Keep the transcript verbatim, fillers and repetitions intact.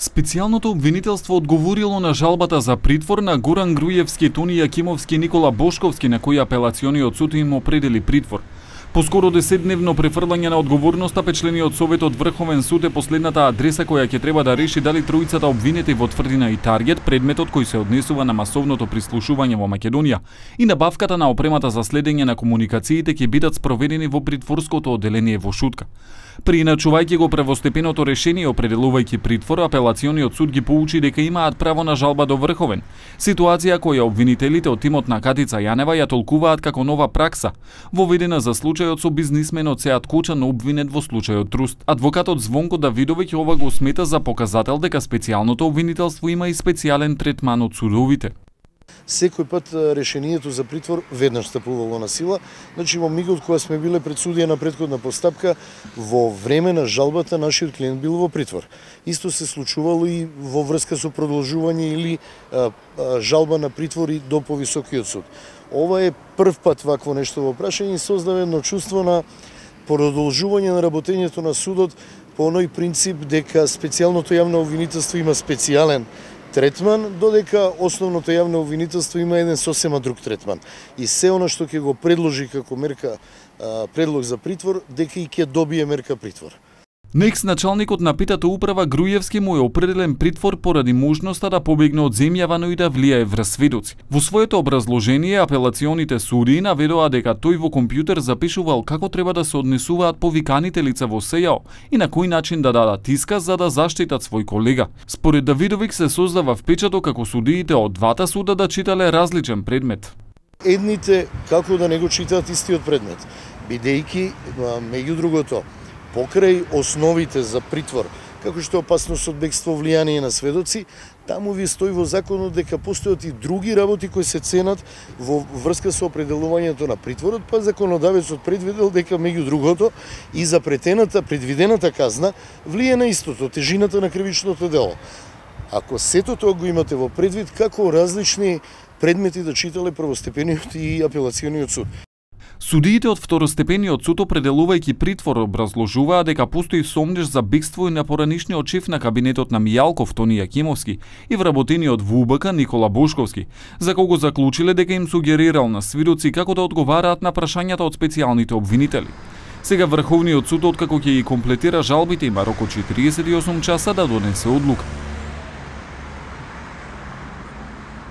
Специјалното обвинителство одговорило на жалбата за притвор на Горан Груевски, Тони Јакимовски и Никола Бошковски, на кои апелациониот суд им определи притвор. Поскоро десетдневно префрлање на одговорноста, печлениот Советот Врховен суд е последната адреса која ќе треба да реши дали тројцата обвинети во тврдина и таргет, предметот кој се однесува на масовното прислушување во Македонија и набавката на опремата за следење на комуникациите ќе бидат спроведени во притворското одделение во Шутка. Прииначувајќи го првостепеното решение и определувајќи притвор, апелациониот суд ги поучи дека имаат право на жалба до Врховен, ситуација која обвинителите од тимот на Катица Јанева ја толкуваат како нова пракса, воведена за случајот со бизнисменот Сеат Кочан обвинет во случајот Труст. Адвокатот Звонко Давидовиќ ова го смета за показател дека специјалното обвинителство има и специјален третман од судовите. Секој пат решението за притвор веднаш стапувало на сила. Значи во мигот кога сме биле пред судија на претходна постапка, во време на жалбата нашиот клиент бил во притвор. Исто се случувало и во врска со продолжување или а, а, жалба на притвори до повисокиот суд. Ова е прв пат вакво нешто во прашање и создава едно чувство на продолжување на работењето на судот по оној принцип дека специјалното јавно обвинителство има специјален третман, додека основното јавно обвинителство има еден сосема друг третман. И се она што ќе го предложи како мерка а, предлог за притвор, дека и ќе добие мерка притвор. На екс-началникот на Петата управа Груевски му е определен притвор поради можноста да побегне од земјава, но и да влијае врз сведоци. Во своето образложение, апелационите судии наведоа дека тој во компјутер запишувал како треба да се однесуваат повиканите лица во СЈО и на кој начин да дадат исказ за да заштитат свој колега. Според Давидовиќ се создава впечаток како судиите од двата суда да читале различен предмет. Едните како да не го читаат истиот предмет, бидејќи меѓу другото покрај основите за притвор, како што е опасност од бегство, влијание на сведоци, таму ви стои во законот дека постојат и други работи кои се ценат во врска со определувањето на притворот, па законодавецот предвидел дека меѓу другото и за претената предвидената казна влие на истото, тежината на кривичното дело. Ако сето тоа го имате во предвид, како различни предмети да читале првостепениот и апелациониот суд. Судиите од второстепениот суд, определувајќи притвор, образложуваа дека постои сомнеж за бегство и на поранишниот шеф на кабинетот на Мијалков, Тони Јакимовски, и вработениот во У Б К Никола Бошковски, за кого заклучиле дека им сугерирал на свидоци како да одговараат на прашањата од специјалните обвинители. Сега Врховниот суд, откако ќе ги комплетира жалбите, има рок од четириесет и осум часа да донесе одлука.